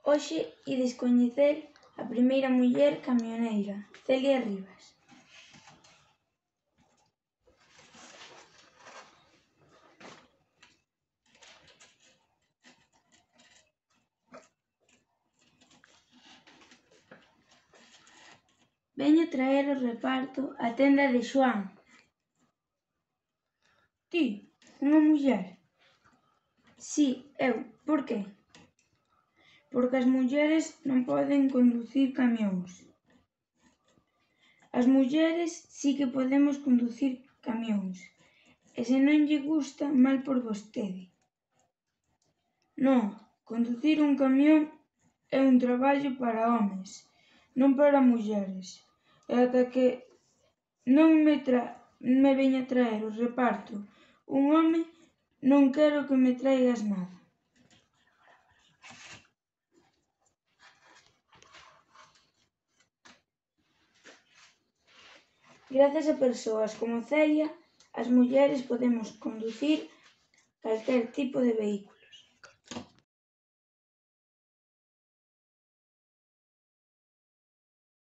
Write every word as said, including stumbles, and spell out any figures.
Hoxe ides coñecer a primeira muller camioneira, Celia Rivas. Veño traer o reparto á tenda de Xoán. Ti, unha muller? Si, eu. Por que? Porque as mulleres non poden conducir camións. As mulleres si que podemos conducir camións, e se non lle gusta, mal por vostede. Non, conducir un camión é un traballo para homes, non para mulleres, e ata que non me tra me veña traer o reparto un home, non quero que me traigas nada. Grazas a persoas como Celia, as mulleres podemos conducir calquer tipo de vehículo.